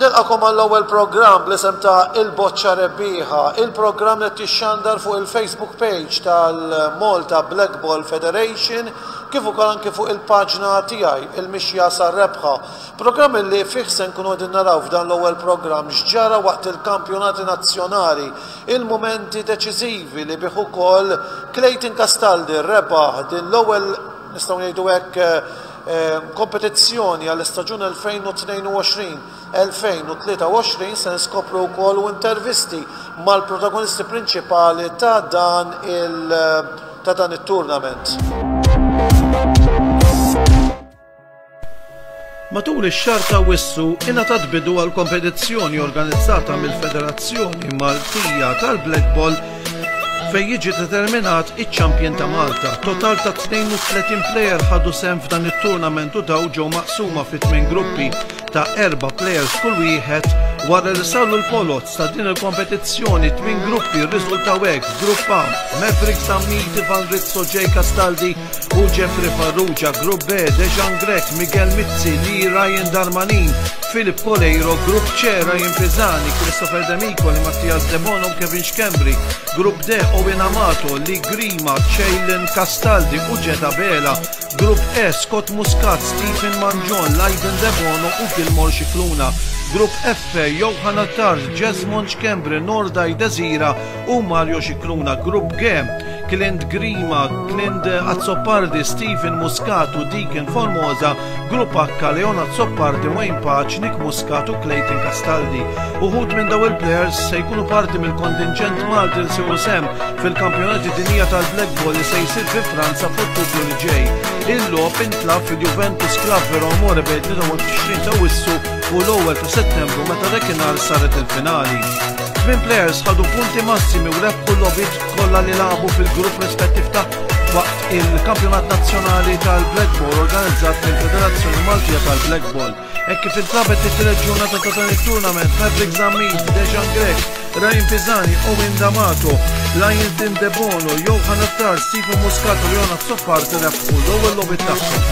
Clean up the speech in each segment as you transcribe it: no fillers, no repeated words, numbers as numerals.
Nilqakom għall-ewwel programm bl-isem ta' Il-Boċċa Rebbieħa, il-programm li qed jixxandar fuq il-Facebook page tal-Malta Blackball Federation kif ukoll anki fuq il-paġna tiegħi, Il-Mixja sar-Rebħa. Programm li fih se nkunu qegħdin naraw f'dan l-ewwel programm x'ġara waqt il-kampjonati nazzjonali, il-mumenti deċiżivi li bih ukoll Clayton Castaldi rebaħ din l-ewwel nistgħu ngħidu hekk kompetizzjoni għall-istaġun 2022-2023 se niskopru wkoll u intervisti mal-protagonisti prinċipali ta' dan il ta' dan it-tournament. Matul ix-xahar ta' Awwissu ingħatat bidu għal kompetizzjoni organizzata mill-Federazzjoni Maltija tal-Blackball fejn jiġi determinat iċ-champion ta' Malta. Total ta' 32 player ħadu sehem f'dan it-tournament u daw ġew maqsuma fi tmien gruppi ta' erba' players kull wieħed wara li saru l-poloz ta' din il-kompetizzjoni tmien gruppi rriżultaw hekk Grupp A, Maverick Zammit, Ivan Rizzo, Jay Castaldi, u Jeffrey Farrugia, Grupp B, Dejan Grech, Miguel Mizzi, Lee Ryan Darmanin, Filip Coleiro, Grupp C, Ryan Pisani, Christopher Demicoli, Mattias Debono u Kevin Schembri, Grupp D, Owen Amato, Lee Grima, Ceylan Castaldi u Ġeda Bela, Grupp E, Scott Muscat, Stephen Mangion, Lyden Debono u Gilmore Scicluna, Grupp F, Johan Attard, Jesmond Schembri, Nordaj Desira u Mario Scicluna, Grupp G, Clint Grima, Clint Azzopardi, Stephen Muscat u Deacon Formosa, Grupp H, Leon Azzopardi, Wayne Pace, Nick Muscat u Clayton Castaldi. Uħud minn daw il-players se jkunu parti mill-kontinġent Malti li se sehem fil-kampjonati dinija tal-Black Ball li se jsir fi Franza f'Ottubru li ġej. Il-logħob intlagħab fil-Juventus Club Vero Amore bejn 23 ta' Awwissu u l-ewwel ta' Settembru meta dakinhar saret il-finali. Tmien players ħadu punti massimi u rebħu l-logħbiet kollha li lagħbu fil-grupp rispettiv tagħhom waqt il-Kampjonat Nazzjonali tal-Blackball organizzat mill-Federazzjoni Maltija tal-Blackball. Hekk kif intlagħbet it-tielet ġurnata ta' dan it-tournament, Maverick Zammit, Dejan Grech, Ryan Pisani, Owen D'Amato, Lion Tim Debono, Johan Attar, Stephen Muscat u Leon Azzopardi rebħu l-ewwel logħbiet tagħhom.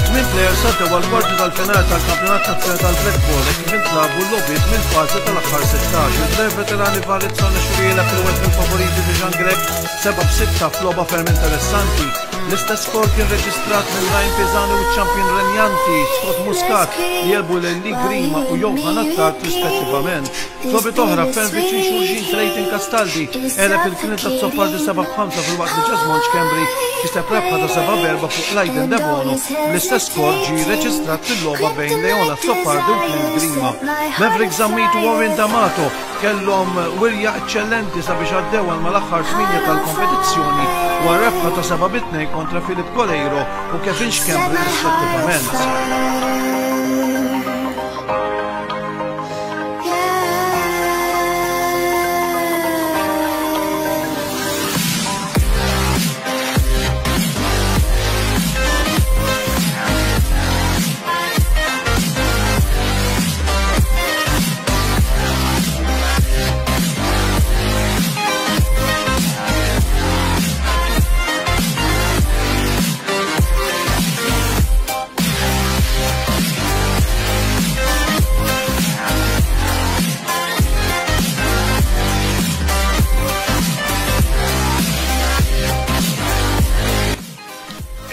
Tmien players għaddew għall-kwarti tal-finali tal-Kampjonat Nazzjonali tal-Blackball hekk kif intlagħbu l-logħbiet mill-fażi tal-aħħar 16. Il-player veterani Varizzo Nexuriela fil-wieħed mill-favoriti Bijan Grech 7-6 f'logħba ferm interessanti. L-istess skor kien reġistrat minn Ryan Pisani u ċ-champion renjanti Scott Muscat li għelbu lil Lee Grima u Johan Attard rispettivament. F'logħbiet oħra ferm viċin xulxin Clayton Castaldi għeleb il Clint Azzopardi 7-5 filwaqt li Jesmond Schembri kiseb rebħa ta' 7-4 fuq Lydon Debono. L-istess skor ġie reġistrat fil-logħba bejn Leon Azzopardi u Clint Grima. Maverick Zammit u Warren D'Amato kellhom wirja eċċellenti sabiex għaddew għal mal-aħħar tmienja tal-kompetizzjoni wara rebħa ta' 7-2 kontra Filip Coleiro u Kevin Schembri rispettivament.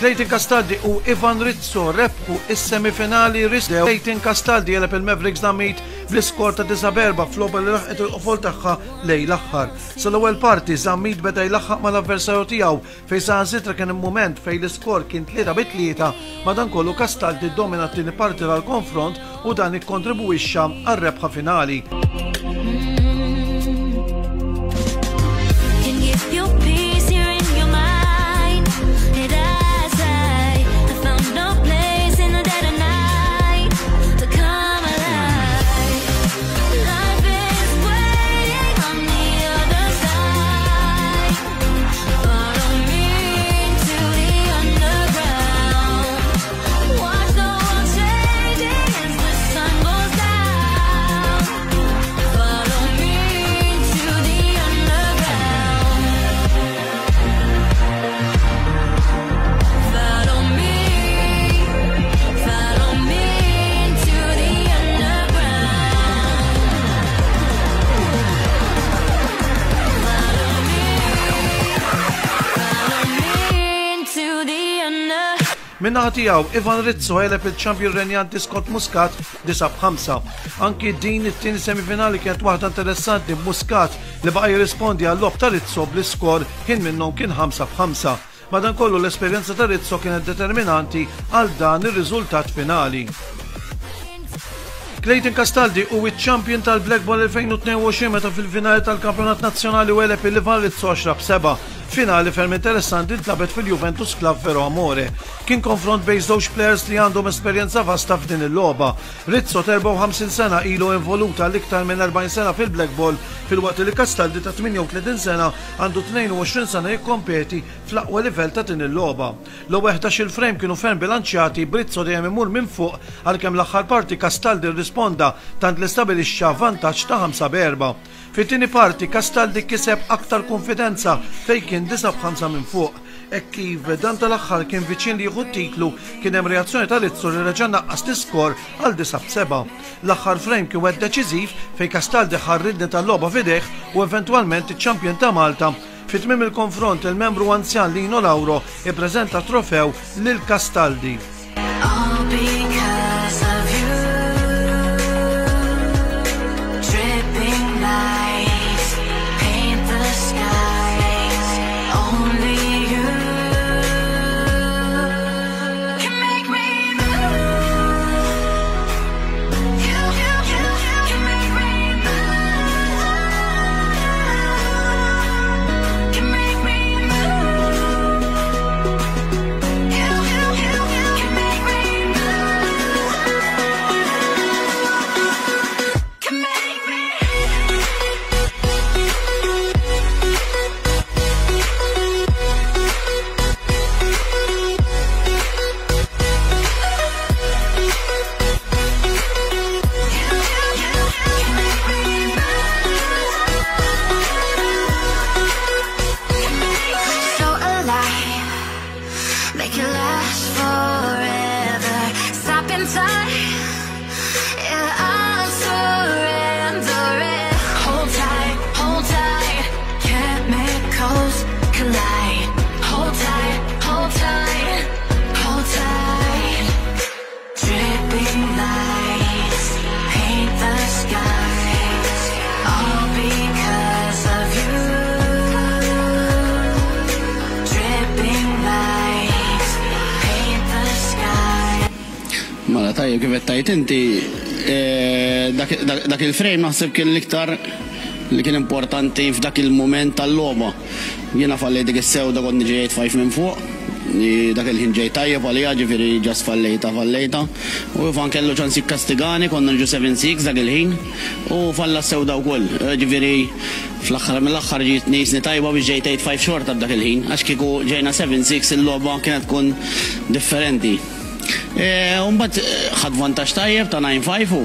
Clayton Castaldi u Ivan Rizzo rebħu is-semifinali Rizzo. Clayton Castaldi għeleb il-Mavericks Damit bl-iskor ta' 9-4 f'logħba li laħqet il-qofol tagħha lejn l-aħħar. Sal-ewwel parti Zammit beda jlaħħaq mal-avversarju tiegħu fejn saħansitra kien hemm mument fejn l-iskor kien 3-3, madankollu Castaldi ddomina t-tieni parti tal-konfront u dan ikkontribwixxa għar-rebħa finali. Min-naħa tiegħu, Ivan Rizzo għeleb il-champion renjanti Scott Muscat 9 b'5. Anki din it-tieni semifinali kienet waħda interessanti b'Muscat li baqa' jirrispondi għal-logħob ta' Rizzo bl-iskor ħin minnhom kien 5 b'5. Madankollu l-esperjenza ta' Rizzo kienet determinanti għal dan ir-riżultat finali. Clayton Castaldi hu iċ-champion tal-Blackball 2022 meta fil-finali tal-Kampjonat Nazzjonali u għeleb il-Ivan Rizzo 10 b'7. Finali ferm interessanti ntlagħbet fil-Juventus Club Vero Amore. Kien konfront bejn żewġ players li għandhom esperjenza vasta f'din il-logħba. Rizzo ta' 54 sena ilu involut għal iktar minn 40 sena fil-blackball filwaqt li Castaldi ta' 38 sena għandu 22 sena jikkompeti fl-aqwa livell ta' din il-logħba. L-ewwel 11-il frame kienu ferm bilanċjati, b'Rizzo dejjem imur minn fuq għalkemm l-aħħar parti Castaldi rrisponda tant li stabilixxa vantaġġ ta' 5 b'erbgħa. Fit-tieni parti Castaldi kiseb aktar kunfidenza fejn kien 9 b'ħamsa minn fuq. Hekk kif dan tal-aħħar kien viċin li jieħu t-titlu kien hemm reazzjoni ta' Rizzo li reġa' naqqas l-iskor għal 9 b'sebgħa. L-aħħar frame kien wieħed deċiżiv fejn Castaldi ħa r-riedni tal-logħba f'idejh u eventwalment iċ-champion ta' Malta. Fi tmiem il-konfront il-membru anzjan Lino Lauro ippreżenta t-trofew lil Castaldi. All because of you. Dripping lights paint the skies. Only you can make me move. You, you, you can make me move. Can make me move. You, you, you can make me move. Can make me. You, you, you can make me move. Can make me so alive. Make it last forever. Stop in time. Yeah, I'm surrendering. Hold tight, hold tight. Chemicals collide. Hold tight, hold tight, hold tight. Dripping lights paint the skies. All because of you. Dripping lights paint the sky. Mela tajjeb kif qed tgħid inti eh, dak, dak, dak il-frame naħseb kien l-iktar li kien importanti f'dak il-moment tal-logħba. Jiena fallejt dik is-sewda kont niġi 8-5 minn fuq, li dak il-ħin ġej tajjeb għalija ġifieri just fallejta fallejta. U Ivan kellu ċans jikkastigani konna niġu 7-6 dak il-ħin u falla s-sewda wkoll. Ġifieri fl-aħħar mill-aħħar ġietni jisni tajba biex ġejt 8-5 xorta b'dak il-ħin għax kieku ġejna 7-6 il-logħba kienet tkun differenti. E, U mbagħad ħadd vantaġġ tajjeb ta' 9-5 u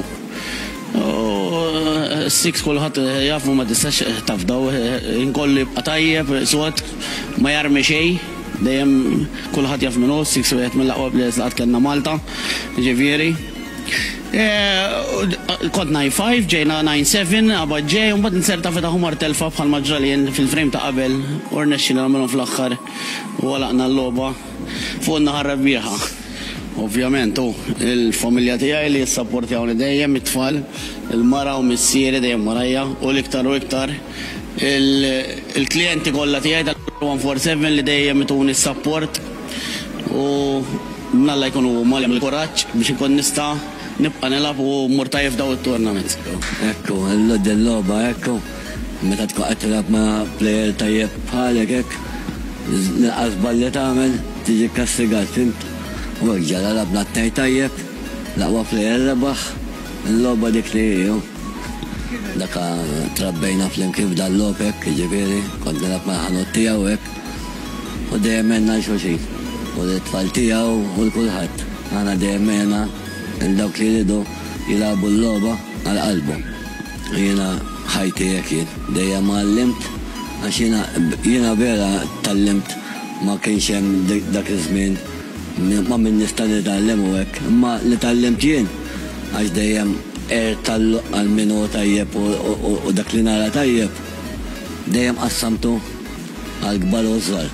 u six kulħadd jafu ma tistax tafdaw inkollu jibqa' tajjeb, sod, ma jarmi xejn, dejjem kulħadd jaf min hu, six wieħed mill-aqwa players li qatt kellna Malta, ġifieri. E, Kont 9-5, ġejna 9-7, qabad ġej, u mbagħad inserta fetaħ mar telfa bħal ma ġrali jien fil-frame ta' qabel u rnexxieli nagħmilhom fl-aħħar u għalaqna l-logħba fuq in-naħa rebbieħa. Ovvjament, u il-familja tiegħi li jissapportjawni dejjem, it-tfal, il-mara u missieri dejjem warajja, u l-iktar u iktar il-klijenti kollha tiegħi tal-147 li dejjem ituni s-support u mnalla jkunu huma li il-kuraġġ biex inkun nista' nibqa' nilgħab u mmur tajjeb f'daw it-tournaments. Ekku, l-logħba ekku, meta tkun qed tilgħab ma' player tajjeb bħalek hekk, l-inqas żball li tagħmel tiġi kkastigat, fhimt? U hekk ġara lgħabna t-tnejn tajjeb, l-aqwa player rebaħ, il-logħba dik li hi. Daka trabbejna flimkien f'dan logħob hekk, jiġifieri, kont nilgħab mal-ħanut tiegħu hekk. U dejjem għenna 'l xulxin. U lit-tfal tiegħu u 'l kulħadd. Aħna dejjem għena 'l dawk li jridu jilagħbu l-logħba għal qalbhom. Jiena ħajti hekk jien. Dejjem għallimt għax jiena jiena vera tgħallimt ma kienx hemm dak iż-żmien ma' min nista' nitgħallem u hekk. Imma li tgħallimt jien għax dejjem għirt għal min hu tajjeb u dak li nara tajjeb dejjem qassamtu għall-kbar u ż-żgħar.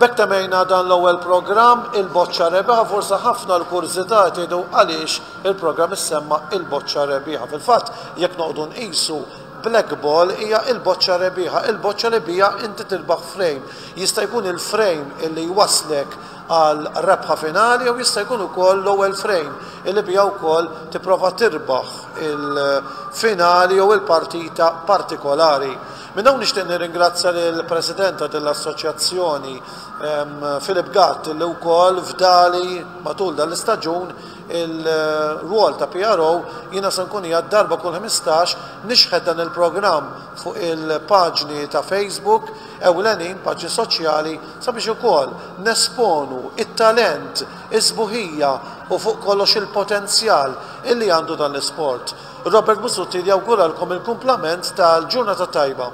B'hekk temmejna dan l-ewwel programm Il-Boċċa Rebbieħa. Forsi ħafna l-kurżità tgħidu għaliex il-programm issemma Il-Boċċa Rebbieħa. Fil-fatt, jekk noqogħdu nqisu Black Ball hija il-boċċa rebbieħa, il-boċċa li biha inti tirbaħ frame. Jista' jkun il-frame illi jwasslek għal rebħa finali jew jista' jkun ukoll l-ewwel frame illi biha wkoll tipprova tirbaħ il-finali jew il-partita partikolari. Minn hawn nixtieq nirringrazzja lill-President ta' din l-assoċjazzjoni Philip Gatt li wkoll fdali matul dan l-istaġun il-rwol ta' PRO. Jiena se nkun qiegħed darba kull 15 nixħet dan il-programm fuq il-paġni ta' Facebook ewlenin, paġni soċjali, sabiex ukoll nesponu it-talent, is-sbuħija u fuq kollox il-potenzjal illi għandu dan l-isport. Robert Busuttil jawguralkom il-kumplament tal-ġurnata tajba.